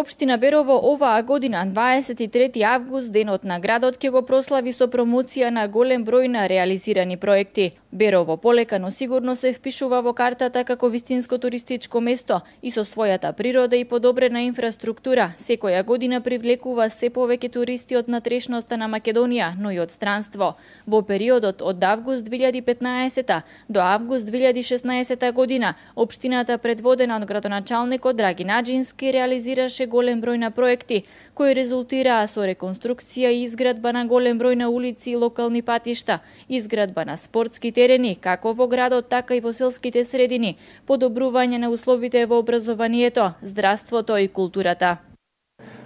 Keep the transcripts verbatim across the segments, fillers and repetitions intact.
Општина Берово оваа година, дваесет и трети август, денот на градот, ќе го прослави со промоција на голем број на реализирани проекти. Берово полека, но сигурно се впишува во картата како вистинско туристичко место и со својата природа и подобрена инфраструктура секоја година привлекува се повеќе туристи од натрешноста на Македонија, но и од странство. Во периодот од август две илјади и петнаесета до август две илјади и шеснаесета година, општината предводена од градоначалникот Драги Наџински реализираше голем број на проекти, кои резултираа со реконструкција и изградба на голем број на улици и локални патишта, изградба на спортски терени, како во градот, така и во селските средини, подобрување на условите во образованието, здравството и културата.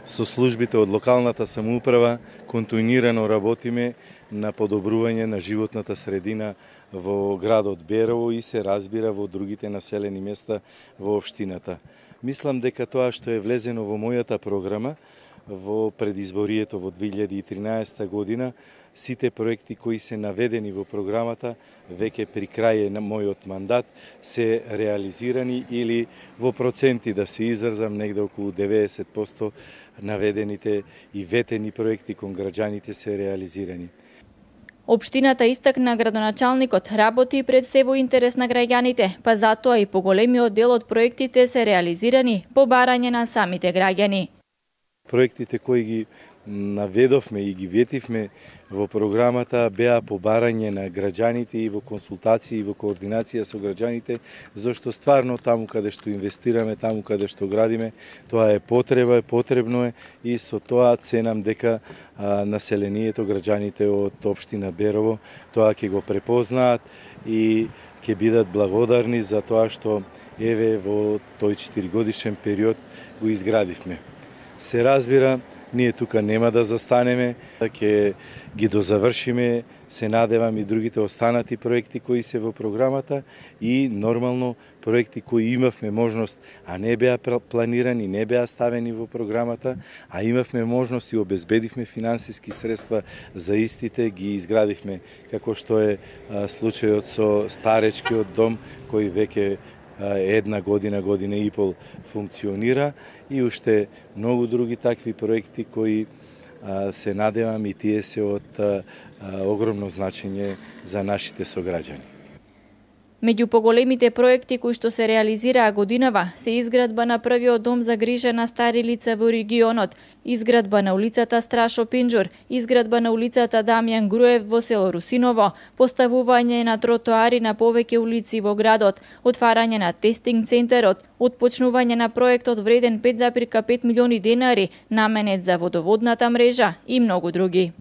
Со службите од локалната самоуправа континуирано работиме на подобрување на животната средина во градот Берово и се разбира во другите населени места во општината. Мислам дека тоа што е влезено во мојата програма во предизборието во две илјади и тринаесета година, сите проекти кои се наведени во програмата веќе при крај на мојот мандат се реализирани или во проценти да се изразам негде околу деветдесет проценти наведените и ветени проекти кон граѓаните се реализирани. Општината истакна градоначалникот работи пред се во интерес на граѓаните, па затоа и поголемиот дел од проектите се реализирани по барање на самите граѓани. Проектите кои ги наведовме и ги ветивме во програмата беа по барање на граѓаните и во консултации и во координација со граѓаните, зашто стварно таму каде што инвестираме, таму каде што градиме, тоа е потреба, е потребно е и со тоа ценам дека а, населението, граѓаните од општина Берово, тоа ќе го препознаат и ќе бидат благодарни за тоа што еве во тој четиригодишен период го изградивме. Се разбира, ние тука нема да застанеме, ќе ги дозавршиме, се надевам и другите останати проекти кои се во програмата и нормално проекти кои имавме можност, а не беа планирани, не беа ставени во програмата, а имавме можност и обезбедивме финансиски средства за истите, ги изградивме, како што е а, случајот со старечкиот дом кој веќе една година, година и пол функционира и уште многу други такви проекти кои а, се надевам и тие се од а, огромно значење за нашите сограѓани. Меѓу поголемите проекти кои што се реализираа годинава се изградба на првиот дом за грижа на стари лица во регионот, изградба на улицата Страшо Пинџур, изградба на улицата Дамјан Груев во село Русиново, поставување на тротоари на повеќе улици во градот, отварање на тестинг центарот, отпочнување на проектот вреден пет зарем пет милиони денари, наменет за водоводната мрежа и многу други.